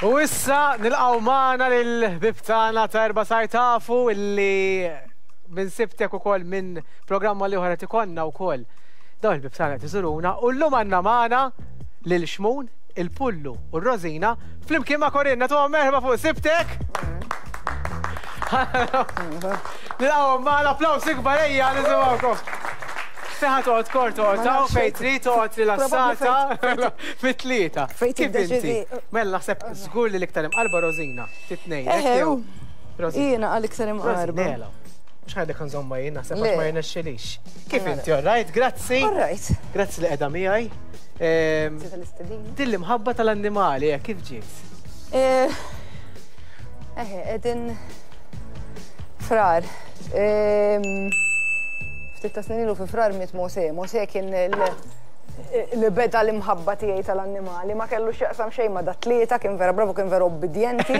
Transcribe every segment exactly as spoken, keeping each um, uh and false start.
U issa nilqgħu magħna lil-ħbieb tagħna ta' erba' sar tafu illi minn Sibtek ukoll, minn programma li oħra tikonna wkoll. Dawn il-ħbieb tagħna qed iżuruna u llum għandna magħna lil Xmun, il-Pullu u r-Rosina flimkien ma' Corinne. Tuhom merħba fuq Sibtek. Nilqgħu magħna, applaws ikbar, ejja nisimgħukom. Seħa toqgħod kor toqgħod hawn fejn trid toqgħod rilassata fit-tlieta. Fejn Kif inti? Tiddeċidi. Mela naħseb żgur li l-iktar imqarba Rosina, titnejn. Eħe, u. Rosina. Jiena għal iktar imqarba. Rosinela. Mhux ħajdek nżomma jien, naħseb Le. għax ma jirnexxilix. Kif inti, all right? Grazzi. All right. Grazzi li qiegħda miegħi. Ehm, Grazzi tal-istedina. Din l-imħabba tal-annimali, eh, kif ġiet? Eh, Eħe, edin Frar. Ehm, Ftit ta' snin ilu fi Frar miet Mose. Mose kien il- li beda l-imħabba tiegħi tal-annimali, ma kellu x'jaqsam xejn ma' dat-tlieta, kien vera bravu, kien vera obbedjenti.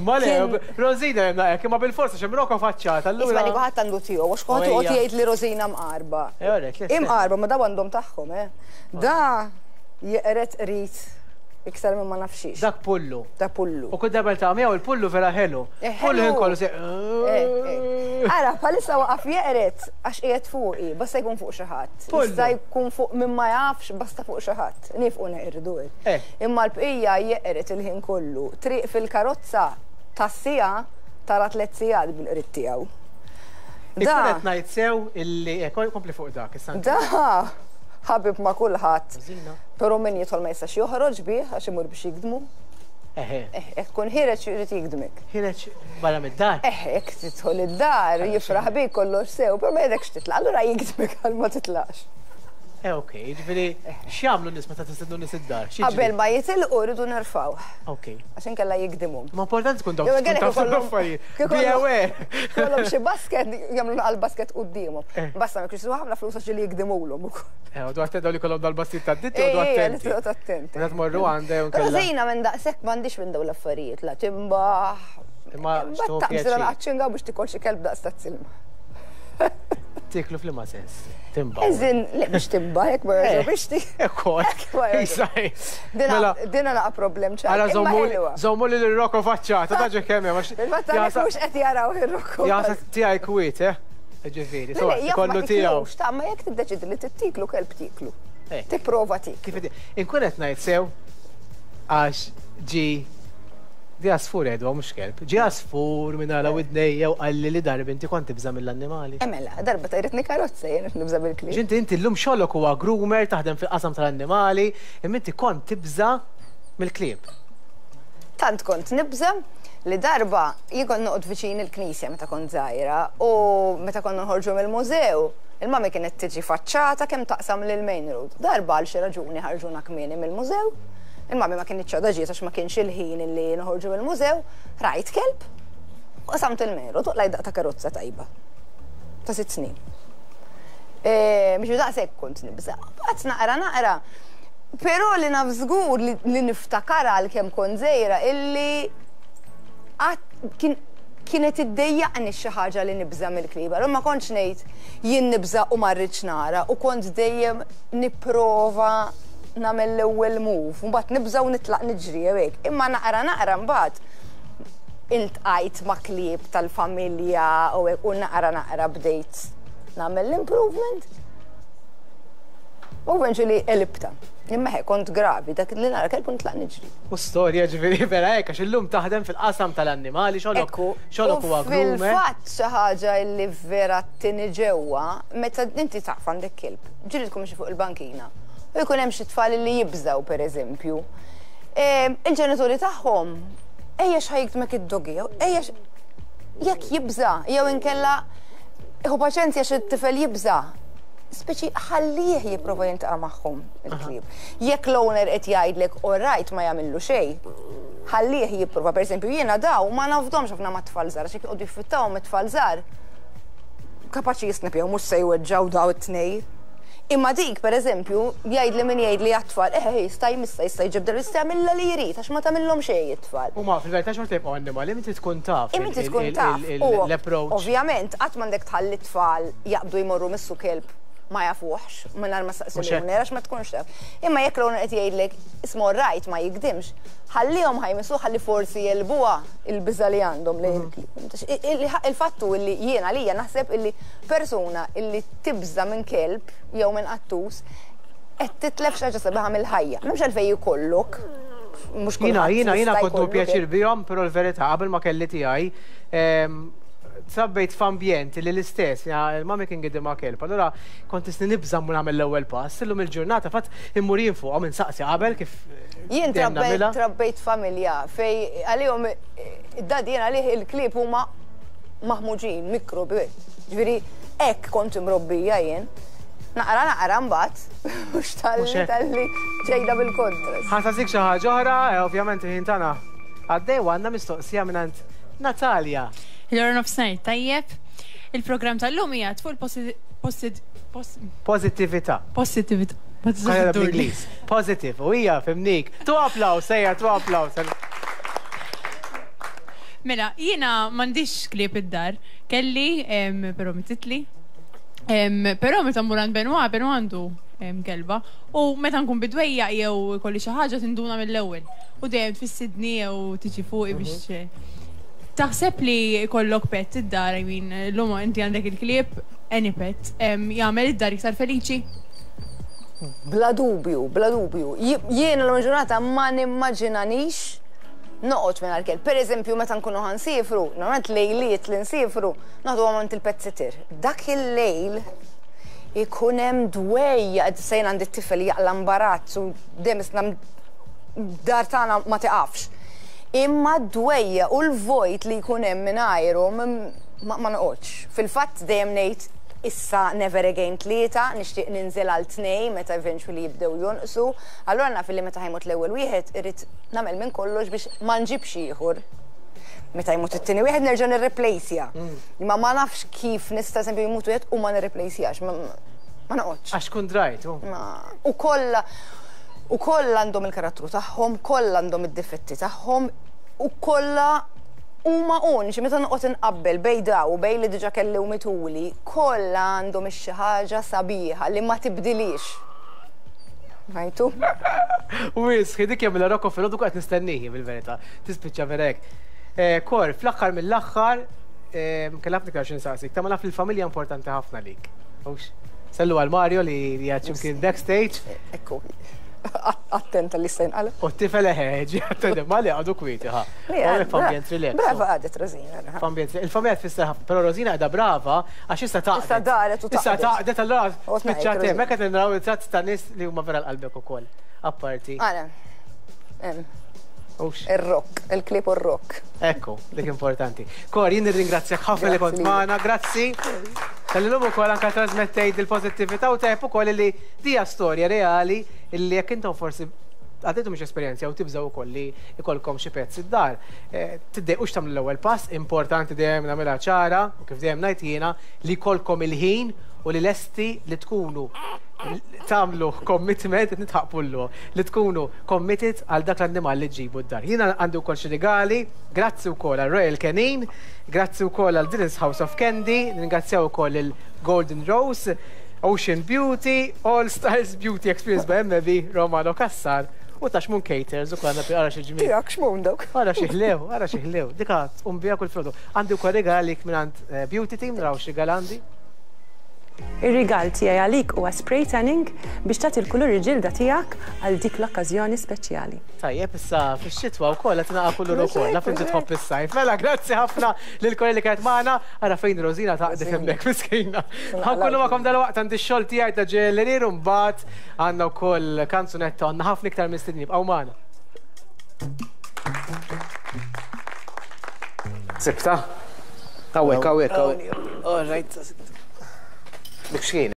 Ma le, Kien- Rosina jemna hekk, imma bil-forsa xemroko faċċata, Isma' allura. li kulħadd għandu tiegħu, għax kulħadd Ejja. joqgħod jgħid li Rosina mqarba. Eh, alright, listen. Imqarba, ma daw għandhom tagħhom, eh. Da jeqret qrid iktar minn ma nafxiex. Dak Pullu. Da Pullu. U kull darba ta' miegħu il-Pullu vera ħelu. Eh, Pullu ħelu. ħin kollu se. Eh, eh. Ara, bħalissa waqaf jeqret għax qiegħed fuqi, basta jkun fuq xi ħadd. Pullu. Jista' jkun fuq min ma jafx, basta fuq xi ħadd. Nifqu neqirdu. Eh. Imma l-bqija jeqret il-ħin kollu. Triq fil-karozza tas-sija tara tliet sigħat bil-qrid tiegħu. Ikun qed ngħid sew illi eh, kompli fuq dak issa. Da ħabib ma' kulħadd. Rosina. Però min jidħol ma jistax joħroġ bih għax imur biex jigdmu. Eħe. Eh, jekk tkun ħireġ jrid jigdmek. Ħireġ barra mid-dar. Eh, jekk tidħol id-dar, jifraħ bik kollox sew, però ma jridekx titlaq, allura jigdmek għal ma titlaqx. Eh, ok, ġifieri x'jagħmlu n-nies meta tistennu nies id-dar? X'jiġri? Qabel ma jitilqu rridu nerfgħu, Ok. għax inkella jigdimhom. Ma importanti tkun dawk Jew tkun inkella taf ikollhom- l-affarijiet. kieku Be kollhom- aware. Kollhom xi basket, jagħmlu naqal basket quddiemhom. Eh. Basta ma jkunx ħafna flus għax li jigdimulhom ukoll. Eh, u dwar daw li kollhom dal-bastit tad-ditti u dwar Ejja, li attenti. toqgħod attenti. Meta tmorru għandha jew nkella. Rosina minn daqshekk m'għandix minn dawn l-affarijiet, la timbaħ. Imma Imbagħad x'tuħu taqbżilha pjaċir. naqgħod biex tikol xi kelb daqs ta' silma. Tiklu f'liema sens. Timba. Eżin, le biex timbaħ, jekk ma Eh. biex ti. Ekkol. ma Isaj. Mela, Dina naqa problem ċar. Ara Imma żommu ħelwa. żommu li l-roko faċċata, taġi kemm hemm għax. Il-fatt għalhekk mhux qed jaraw ir-rokku. Jasa tiegħi kwiet, eh? Ġifieri, so Le, jaf ma kollu tiegħu. tiklux, ta' ma jekk tiddeċidi li tittiklu kelb tiklu. Eh. Tipprova tiklu. Kif inti? Inkun qed ngħid sew għax ġi di għasfur edwa mhux kelb. Ġi għasfur minn għala widnejja u qalli li darba inti kont tibża' mill-annimali. Emela, darba tajritni karozza jien qed nibża' bil-klieb. Ġinti inti llum xogħlok huwa groomer, taħdem fil-qasam tal-annimali, imma inti kont tibża' mill-klieb. Tant kont nibża' li darba jien kont noqgħod viċin il-knisja meta kont żgħira u meta konna nħorġu mill-mużew, il-mami kienet tiġi faċċata kemm taqsam lil main road. Darba għal xi raġuni ħarġuna kmieni mill-mużew, il-mami ma kienx għadha ġiet għax ma kienx il-ħin illi noħorġu mill-mużew, rajt kelb u qasamt il-main road u qlajt daqqa ta' karozza tajba. Ta' sitt snin. Eh, Biex daqshekk kont nibża'. Baqgħet naqra naqra. Però li naf żgur li, li niftakar għal kemm kont żgħira illi għat- kien kienet iddejjaqni xi ħaġa li nibża' mill-klieb. Allura ma kontx ngħid jien nibża' u ma rridx nara u kont dejjem nipprova nagħmel l-ewwel move, mbagħad nibża' u nitlaq niġri jew hekk. Imma naqra naqra mbagħad iltqajt ma' klieb tal-familja u hekk u naqra naqra bdejt nagħmel l-improvement. U eventually għelibtha. Imma hekk kont gravi, dak li nara kelb u nitlaq niġri. U storja ġifieri vera hekk għax illum taħdem fil-qasam tal-annimali, xogħlok Ekku, xogħlok u huwa groomer. Fil-fatt xi ħaġa li vera tini ġewwa, meta inti taf għandek kelb, ġieli tkun xi fuq il-bankina. U jkun hemm xi tfal li jibżaw pereżempju. Ehm, Il-ġenituri tagħhom ejja x'ħa jigdmek id-doggy, jew ejja x- jekk jibża, jew inkella ħu paċenzja xi tifel jibża. Speċi ħallih jipprova jiltaqa' magħhom il-klieb. Jekk l-owner qed jgħidlek all right ma jagħmillu xejn, ħallih jipprova. Pereżempju jiena daw ma nafdomx ħafna ma' tfal żgħar, għax jekk joqogħdu jiffittawhom it-tfal żgħar, kapaċi jisnipjaw mhux se jweġġaw daw it-tnej. Imma dik, per eżempju, jgħid li min jgħid li għat-tfal, eh, jista' jmissa, jista' jġibdel, jista' jagħmilha li jrid, għax ma tagħmilhom xejn it-tfal. U ma fil-verità xorta jibqgħu annimali, inti tkun taf. Imma inti tkun taf. U L-approach. ovvjament, qatt m'għandek tħalli t-tfal jaqbdu jmorru missu kelb. ma jafuhx, mingħajr ma saqsu l-owner, għax ma tkunx taf. Imma jekk l-owner qed jgħidlek ismu right ma jigdimx, ħallihom ħa jmissu ħalli forsi jegħlbuha il-biża li għandhom lejn il-klieb. Il-fattu illi jiena lija naħseb illi persuna illi tibża minn kelb jew minn qattus qed titlef xi ħaġa sabiħa mill-ħajja. M'hemmx għalfejn jkollok. Jiena jiena jiena kont pjaċir bihom, però l-verità qabel ma kelli tiegħi trabbejt f'ambjent li l-istess, il-mami kien gidima kelb, allura kont isni nibża' mu nagħmel l-ewwel pass, illum il-ġurnata fatt immur jien fuqhom insaqsi qabel kif. Jien trabbejt familja fej għalihom id-daddy jien għalih il-klieb huma maħmuġin, mikrobi. Ġifieri hekk kont imrobbija jien. Naqra naqra mbagħad, mhux talli talli ġejda bil-kontra. Ħa nsaqsik xi ħaġa oħra, ovvjament il-ħin tagħna għaddej u għandna mistoqsija mingħand Natalia. Il-ora nofsinhar tajjeb. Il-programm tal-lum hija fuq il-pożittività. Positività. Bl-Ingliż. Positive. U hija fimnik. Tu applaus, sejja, tu applaus. Mela, jiena m'għandix klieb id-dar. Kelli, però mititli. Però meta mmur għand Benoit, Benoit għandu kelba. U meta nkun bidwejja jew kolli xi ħaġa tinduna mill-ewwel. U dejjem tfissidni jew tiġi fuqi biex. Taħseb li kollok pet id-dar, I mean, l-lum inti għandek il-klieb, any pet, jagħmel id-dar iktar feliċi? Bla dubju, bla dubju. Jiena l ġurnata ma nimmaġinanix noqgħod minn kelb. Per eżempju, meta nkunu ħa nsifru, normalment lejliet li nsifru, naħdu għamant il-pet sitter. Dak il-lejl ikun hemm dwejja, sejn għandi t-tifel jaqla imbarazz u dejjem isna dar tagħna ma tiqafx. Imma d-dwejja u l-vojt li jkun hemm mingħajru ma noqgħodx. Fil-fatt dejjem ngħid issa never again tlieta, nixtieq ninżel għal tnejn meta eventually jibdew jonqsu. Allura naf li meta ħa jmut l-ewwel wieħed irrid nagħmel minn kollox biex ma nġibx ieħor. Meta jmut it-tieni wieħed nerġa' nirreplejsja. Imma ma nafx kif nista' eżempju jmut wieħed u ma nirreplejsjax, ma noqgħodx. Għax kun drajt. U kollha U kollha għandhom il-karattru tagħhom, kollha għandhom id-difetti tagħhom, u kollha huma uniċi meta noqgħod inqabbel bejn daw u bejn li diġà kelli u mituli, kollha għandhom xi ħaġa sabiħa li ma tibdilix. Rajtu? U wisħi dik jagħmilha Rocco filgħodu qed nistennihi bil-verità. Tispiċċa vera hekk. Kor, fl-aħħar mill-aħħar kellha ħafna iktar xi nsaqsik, ta' ma naf li l-familja importanti ħafna lik. Sellu għal Mario li qiegħed x'imkien backstage. Ekku. Attenta li sejn għala. U t-tifel eħeġi, attenta, ma li għadu kwieti, ħa. F'ambjent relax. Brava għadet Rosina. F'ambjent, il-familja tfisser ħafna, però Rosina għadha brava, għax issa taqdet. Issa daret u taqdet. Issa taqdet, allora spiċċat hemm, hekk qed naraw it-tratt ta' nies li huma vera l-qalbek ukoll. Apparti. Għala. Ir-rock, il-klip u r-rock. Ekku, dik importanti. Kor, jien nirringrazzjak ħafna li kont magħna, grazzi. Tal-lum ukoll anke trasmettejt il-pożittività u tajb ukoll li dija storja reali illi jekk intom forsi għaddejtu mhux esperjenza u tibżgħu ukoll li jkollkom xi pezz id-dar. Tiddejqux tagħmlu l-ewwel pass, importanti dejjem nagħmilha ċara u kif dejjem ngħid jiena li jkollkom il-ħin u li lesti li tkunu tagħmlu commitment, nitħaqpullu, li tkunu committed għal dak l-annimal li ġibu d-dar. Jiena għandi wkoll xi rigali, grazzi wkoll għal Royal Canin, grazzi wkoll għal Dylan's House of Candy, ringrazzjaw ukoll il-Golden Rose, Ocean Beauty, All Styles Beauty Experience by M B, Romano Cassar, u ta' Xmun Caters, u għandna għara xi ġmiel. Tiegħek xmun dawk. Għara xi ħlew, għara xi ħlew. Dika tqum biha kull frodu. Għandi wkoll rigal għalik mingħand Beauty Team, naraw xi rigal għandi. Ir-rigal tiegħi għalik huwa spray tanning biex tagħti l-kulur il-ġilda tiegħek għal dik l-okkażjoni speċjali. Tajjeb, issa fix-xitwa wkoll qed naqa' kulur ukoll, naf inti tħobb is-sajf. Mela, grazzi ħafna lil kolli li kienet magħna, ara fejn Rosina taqdef hemmhekk miskina. Ħankunu magħkom dalwaqt għandi x-xogħol tiegħi ta' ġellerir u mbagħad għandna wkoll kanzunetta għandna ħafna iktar mistednin ibqgħu magħna. Sibta? Hawnhekk, hawnhekk, hawnhekk. All right. Dik x'kien?